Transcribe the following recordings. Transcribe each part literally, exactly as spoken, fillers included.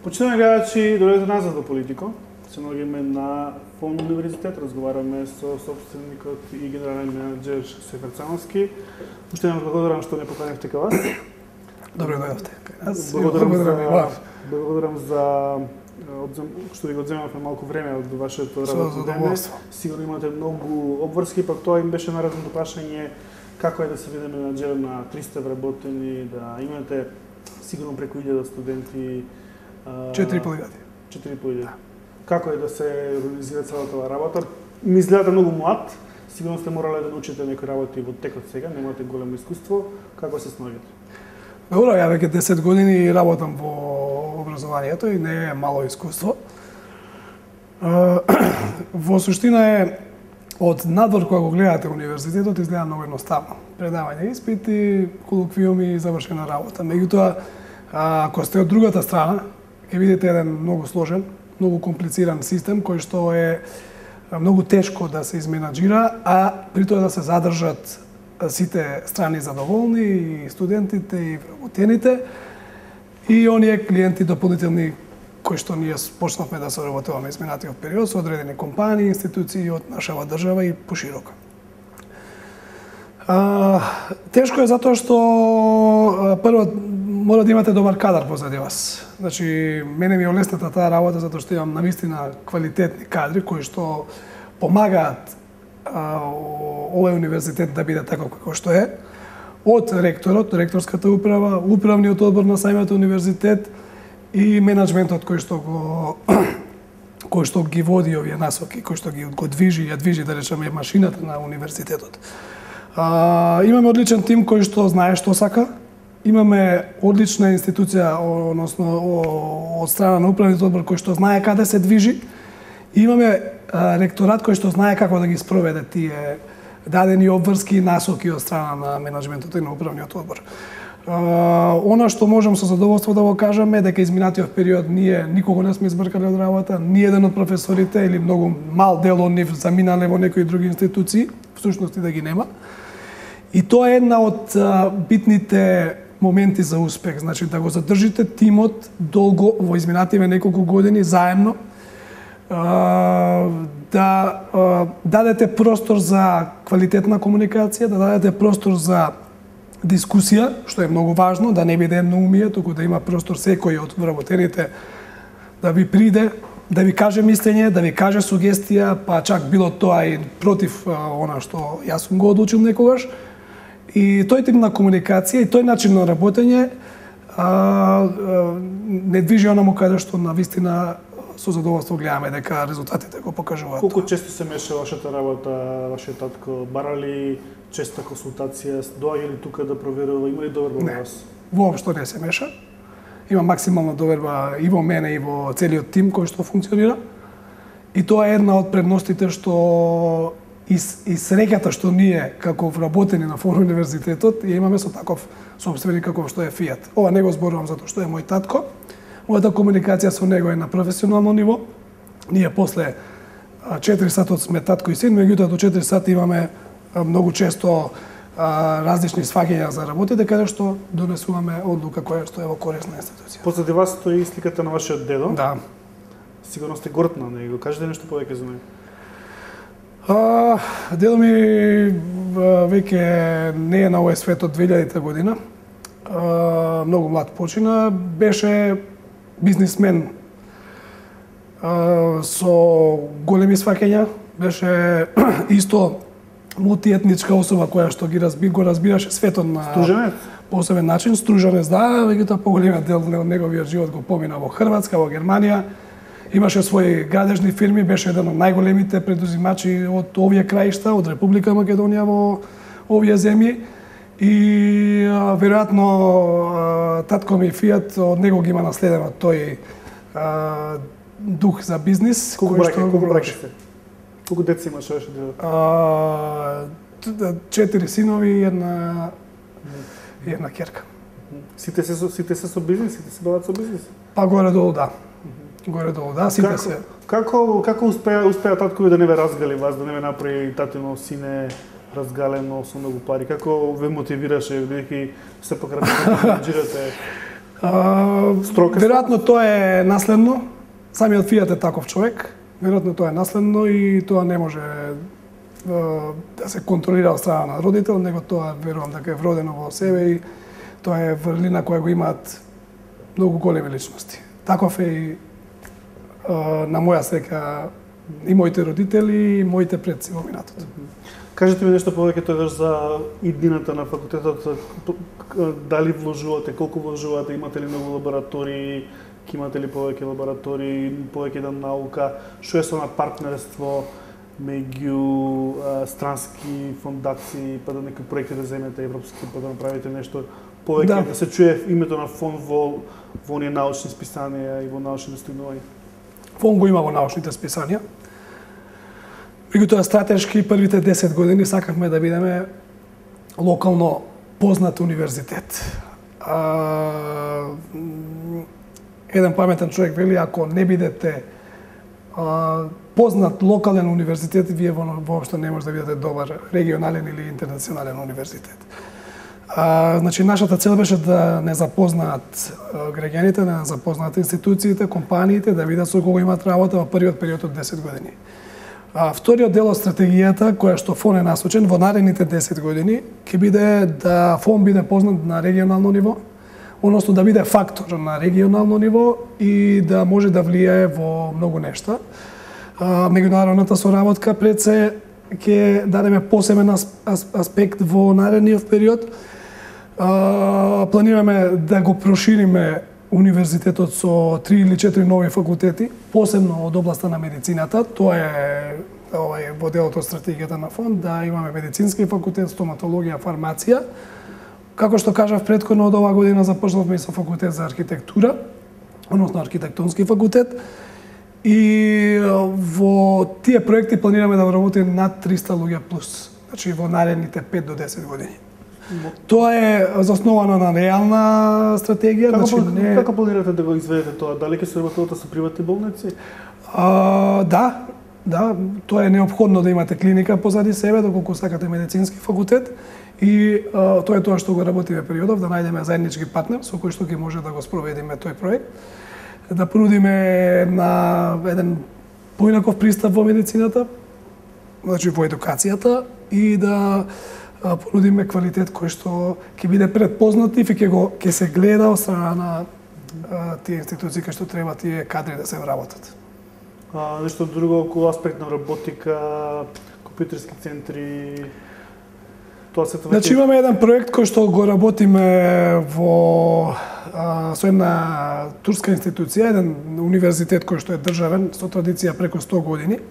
Почитаме гледачи, дојдете назад до Политико. Се наоѓаме на Фон универзитет, разговараме со собственикот и генерален менеджер Сефер Цановски. Уште еднаш благодарам што не поканевте кај вас. Добре дојдовте. Аз благодарам, благодарам за, благодарам за одзем, што ви го одземавме малку време од вашето работно време. Сигурно имате многу обврски, пак тоа им беше наредното прашање како е да се биде менаџер на триста вработени, да имате сигурно преку илјада студенти. четири и пол илјади. четири и пол илјади. Како е да се организира целата оваа работа? Ми изгледате многу млад, сигурно сте морале да научите некои работи во текот сега, немате големо искуство. Како се снаоѓате? Добро, ја веќе десет години работам во образованието и не е мало искуство. Во суштина е, од надвор кога го гледате универзитетот, изгледа многу едноставно. Предавање испити, колоквиуми и завршена работа. Меѓутоа, ако сте од другата страна, ќе видите еден многу сложен, многу комплициран систем кој што е многу тешко да се изменаџира, а при тоа да се задржат сите страни задоволни, и студентите, и вработените, и оние клиенти дополнителни кои што ние почнавме да соработуваме изминатиот период со одредени компании, институции од нашава држава и поширока. А, тешко е затоа што прво мора да имате добар кадар позади вас. Значи, мене ми е олесната таа работа затоа што имам навистина квалитетни кадри кои што помагаат а, овој универзитет да биде таков како што е. Од ректорот, ректорската управа, управниот одбор на самиот универзитет и менаџментот кој што го кој што ги води овие насоки, кој што ги го движи, ја движи да речеме машината на универзитетот. А, имаме одличен тим кој што знае што сака. Имаме одлична институција, односно од страна на управниот одбор кој што знае каде се движи. И имаме а, ректорат кој што знае како да ги спроведе тие дадени обврски и насоки од страна на менаџментот и на управниот одбор. А, она што можам со задоволство да го кажам е дека изминатиот период ние никого не сме избркале од работа, ни еден од професорите или многу мал дел од нив заминале во некои други институции, всушност и да ги нема. И тоа е една од а, битните моменти за успех, значи да го задржите тимот долго во изминативе неколку години заедно, а, да а, дадете простор за квалитетна комуникација, да дадете простор за дискусија, што е многу важно, да не биде едноумие, туку да има простор секој од вработените да ви приде, да ви каже мислење, да ви каже сугестија, па чак било тоа и против а, она што јас сум го одлучил некогаш. И тој тип на комуникација и тој начин на работење а, а, не движи онаму каде што навистина со задоволство гледаме дека резултатите го покажуваат. Колку често се меша вашата работа, вашиот татко? Бара ли честа консултација? Доаѓа ли тука да проверува? Има ли доверба во вас? Воопшто не се меша. Има максимална доверба и во мене и во целиот тим кој што функционира. И тоа е една од предностите што И, и среќата што ние како вработени на Фон универзитетот ја имаме со таков собственик како што е Фијат. Ова не го зборувам затоа што е мој татко. Мојата комуникација со него е на професионално ниво. Ние после четири сатот сме татко и син, меѓутоа до четири сати имаме многу често а, различни сваќања за работите каде што донесуваме одлука која што е во корист на институција. Позади вас стои сликата на вашиот дедо. Да. Сигурно сте горд на него. Кажете нешто повеќе за него. А, дедо ми веќе не е на овој свет од две илјадите година. А, многу млад почина, беше бизнисмен а, со големи сваќања, беше исто мултиетничка особа која што ги разби, го разбираше светот на Струженец? посебен начин. Струженец, да, веќе поголемиот дел од неговиот живот го помина во Хрватска, во Германија. Имаше своји градежни фирми, беше еден од најголемите предузимачи од овие краишта, од Република Македонија во овие земји. И а, веројатно а, татко ми Фијат од него ги има наследено тој а, дух за бизнис. Колку браќа, колку браќа сте? Колку деца имаш ваше дедо? Четири синови и една и една ќерка. Сите се со сите се со бизнис, сите се бават со бизнис? Па горе-долу да. Горе-долу да, сите како, се. Како како успеа успеа татко ви да не ве разгали вас, да не ве направи татино сине разгалено со многу пари? Како ве мотивираше бидејќи се покрај менаџирате? Строка. Веројатно тоа е наследно. Самиот Фијат е таков човек. Веројатно тоа е наследно и тоа не може да се контролира од страна на родител, него тоа верувам дека е вродено во себе и тоа е врлина која го имаат многу големи личности. Таков е и на моја среќа и моите родители и моите предци во минатото. Кажете ми нешто повеќе тогаш за иднината на факултетот, дали вложувате, колку вложувате, имате ли многу лаборатории, имате ли повеќе лаборатории, повеќе да наука, што е со на партнерство меѓу странски фондации, па да некои проекти да земете европски, па да направите нешто повеќе, да, да се чуе името на фонд во во оние научни списанија и во научни достигнувања? Фонд го има во научните списанија. Меѓутоа стратешки првите десет години сакавме да бидеме локално познат универзитет. А, еден паметен човек вели, ако не бидете а, познат локален универзитет, вие воопшто не може да бидете добар регионален или интернационален универзитет. А, значи, нашата цел беше да не запознаат граѓаните, да не запознаат институциите, компаниите, да видат со кого имаат работа во првиот период од десет години. А, вториот дел од стратегијата, која што фон е насочен во наредните десет години, ќе биде да фон биде познат на регионално ниво, односно да биде фактор на регионално ниво и да може да влијае во многу нешта. А, меѓународната соработка пред се ќе дадеме посебен аспект во наредниот период. А, планираме да го прошириме универзитетот со три или четири нови факултети, посебно од областа на медицината. Тоа е овај во делот од стратегијата на фонд, да имаме медицински факултет, стоматологија, фармација. Како што кажав претходно, од оваа година започнавме со факултет за архитектура, односно архитектонски факултет. И во тие проекти планираме да работиме над триста луѓе плюс, значи во наредните пет до десет години. Тоа е засновано на реална стратегија. Како, значи, не... како планирате да го изведете тоа? Дали ќе се работите со приватни болници? А, да, да, тоа е неопходно да имате клиника позади себе, доколку сакате медицински факултет. И а, тоа е тоа што го работиме периодов, да најдеме заеднички партнер со кој што ќе може да го спроведиме тој проект. Да понудиме на еден поинаков пристап во медицината, значи во едукацијата, и да понудиме квалитет кој што ќе биде предпознатив и ќе го ќе се гледа од страна на а, тие институции кои што треба тие кадри да се вработат. А, нешто друго околу аспект на роботика, компјутерски центри, тоа се тоа. Значи имаме еден проект кој што го работиме во а, со една турска институција, еден универзитет кој што е државен со традиција преку сто години.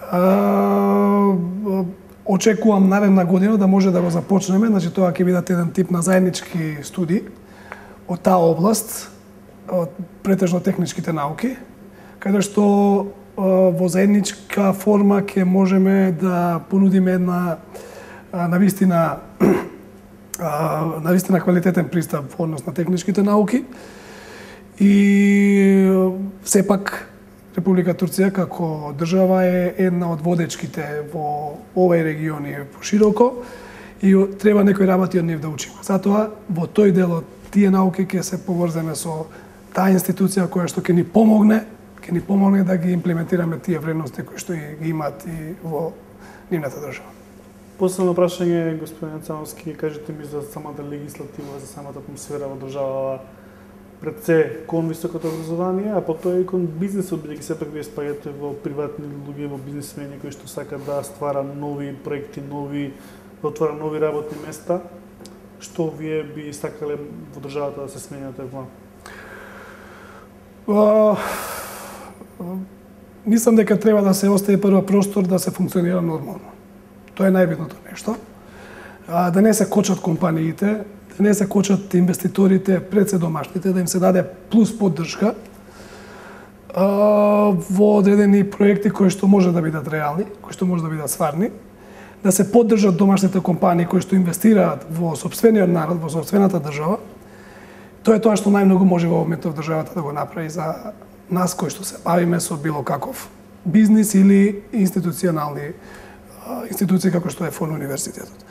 А, очекувам наредна година да може да го започнеме, значи тоа ќе бидат еден тип на заеднички студии од таа област, од претежно техничките науки, каде што во заедничка форма ќе можеме да понудиме една навистина навистина квалитетен пристап во однос на техничките науки. И сепак Република Турција како држава е една од водечките во овој регион и пошироко и треба некои работи од нив да учиме. Затоа во тој дел од тие науки ќе се поврземе со таа институција која што ќе ни помогне, ќе ни помогне да ги имплементираме тие вредности кои што ги имаат и во нивната држава. Последно прашање, господин Цановски, кажете ми за самата легислатива, за самата атмосфера во држава, пред се кон високото образование, а потоа и кон бизнисот, бидејќи сепак вие спаѓате во приватни луѓе, во бизнисмени кои што сакаат да ствара нови проекти, нови, да отвара нови работни места. Што вие би сакале во државата да се смени на тој план? Мислам дека треба да се остави прво простор да се функционира нормално. Тоа е најбитното нешто. А, да не се кочат компаниите, да не се кочат инвеститорите пред се домашните, да им се даде плюс поддршка а, во одредени проекти кои што може да бидат реални, кои што може да бидат стварни, да се поддржат домашните компании кои што инвестираат во сопствениот народ, во сопствената држава. Тоа е тоа што најмногу може во моментов државата да го направи за нас кои што се бавиме со било каков бизнис или институционални институции како што е фон универзитетот.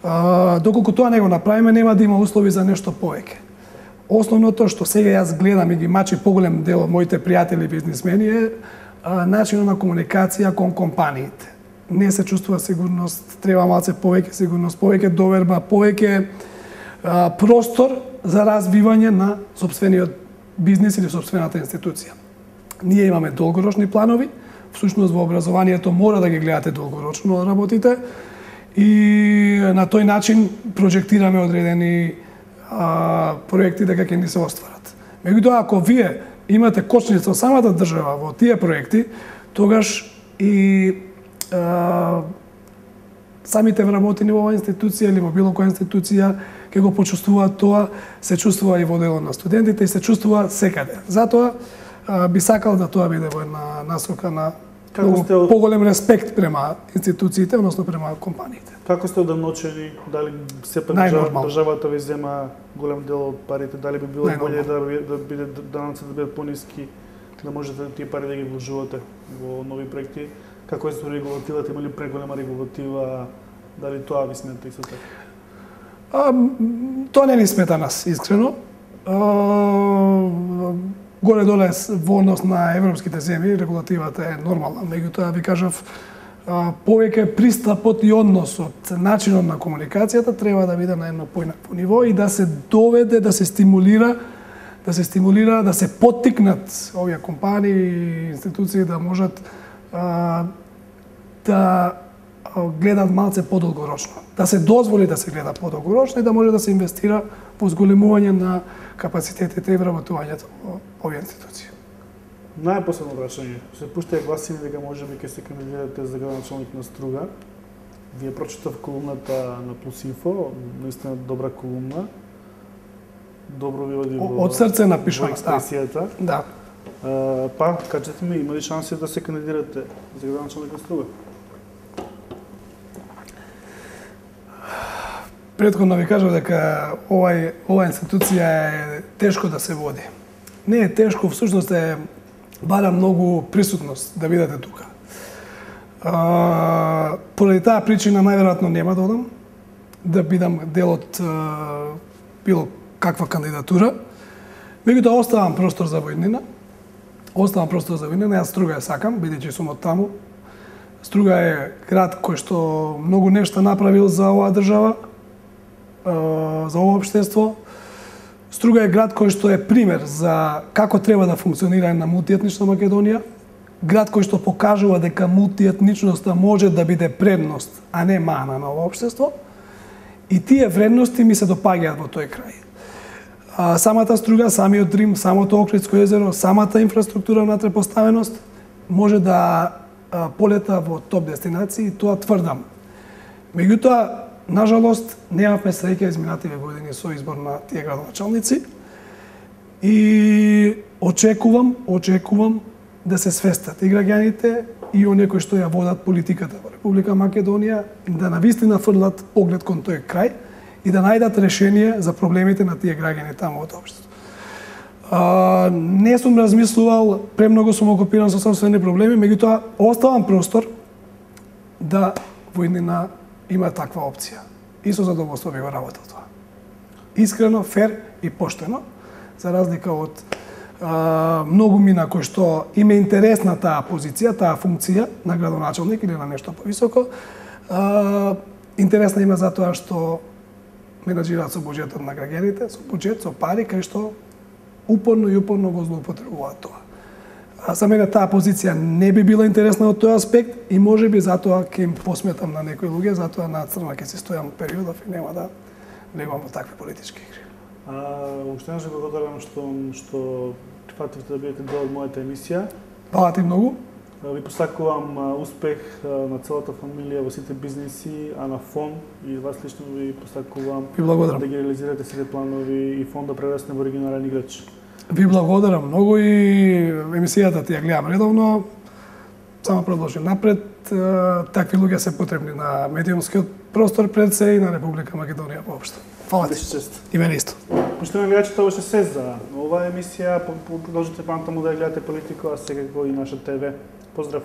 А, доколку тоа не го направиме, нема да има услови за нешто повеќе. основното што сега јас гледам и ги мачи поголем дел од моите пријатели бизнисмени е а, начинот на комуникација кон компаниите. Не се чувствува сигурност, треба малце повеќе сигурност, повеќе доверба, повеќе а, простор за развивање на сопствениот бизнис или сопствената институција. Ние имаме долгорочни планови, всушност во образованието мора да ги гледате долгорочно работите и на тој начин проџектираме одредени а, проекти дека ќе ни се остварат. Меѓутоа, ако вие имате кочница од самата држава во тие проекти, тогаш и а, самите вработени во оваа институција или во било која институција ќе го почувствуваат тоа, се чувствува и во делот на студентите и се чувствува секаде. Затоа а, би сакал да тоа биде во една насока на Како сте од... поголем респект према институциите, односно према компаниите. Како сте одамночени? Дали сепак држава, државата ви зема голем дел од парите? Дали би било боле да, да биде данъците да бидат пониски, да можете тие пари да ги вложувате во нови проекти? Како е со регулативата? Има ли преголема регулатива? Дали тоа ви смета исто така? А, тоа не ни смета нас, искрено. А, Горе-доле во однос на европските земји регулативата е нормална, меѓутоа ви кажав повеќе пристапот и односот, начинот на комуникацијата треба да биде на едно поинакво ниво и да се доведе, да се стимулира, да се стимулира, да се поттикнат овие компании и институции да можат а, да гледат малце подолгорочно, да се дозволи да се гледа подолгорочно и да може да се инвестира во зголемување на капацитетите и вработувањето во овие институции. Најпоследно прашање. Се пуштаја гласини дека можеби ќе се кандидирате за градоначалник на Струга. Вие прочитав колумната на Плюс Инфо, наистина добра колумна. Добро ви оди во од срце напишано експресијата. Да. А, па, кажете ми, има ли шанси да се кандидирате за градоначалник на Струга? Претходно ви кажав дека овај оваа институција е тешко да се води. Не е тешко, всушност е бара многу присутност да бидете тука. А, поради таа причина најверојатно нема да одам, да бидам дел од а, било каква кандидатура. Меѓутоа оставам простор за војнина. Оставам простор за војнина, јас Струга ја сакам, бидејќи сум од таму. Струга е град кој што многу нешта направил за оваа држава, за ова општество. Струга е град кој што е пример за како треба да функционира една мултиетнична Македонија, град кој што покажува дека мултиетничноста може да биде предност, а не мана на ова општество. И тие вредности ми се допаѓаат во тој крај. А, самата Струга, самиот Рим, самото Охридско езеро, самата инфраструктура на поставеност може да а, полета во топ дестинации, и тоа тврдам. Меѓутоа, нажалост, немавме среќа изминативе години со избор на тие градоначалници и очекувам, очекувам да се свестат и граѓаните и оние кои што ја водат политиката во Република Македонија, да навистина фрлат поглед кон тој крај и да најдат решение за проблемите на тие граѓани таму од општеството. А, не сум размислувал, премногу сум окупиран со собствени проблеми, меѓутоа оставам простор да војнина има таква опција. И со задоволство би го работел тоа. Искрено, фер и поштено, за разлика од а, многу мина кои што им е интересна таа позиција, таа функција на градоначалник или на нешто повисоко, а, интересна има затоа што менаџираат со буџетот на граѓаните, со буџет, со пари, кај што упорно и упорно го злоупотребуваат тоа. А за мене таа позиција не би била интересна од тој аспект и можеби затоа ќе им посметам на некои луѓе, затоа на црна ќе се стојам периодов и нема да влегувам во такви политички игри. А, уште еднаш благодарам што што прифативте да бидете дел од мојата емисија. Фала ти многу. Ви посакувам успех на целата фамилија во сите бизниси, а на фон и вас лично ви посакувам ви благодарам да ги реализирате сите планови и фон да прерасне во регионален играч. Ви благодарам многу и емисијата ти ја гледам редовно. Само продолжи напред. Такви луѓе се потребни на медиумскиот простор пред се и на Република Македонија воопшто. Фала ти. И мене исто. Поштовани гледачи, тоа беше се за оваа емисија. Продолжите памтаму да ја гледате политика, а секако и наша ТВ. Поздрав!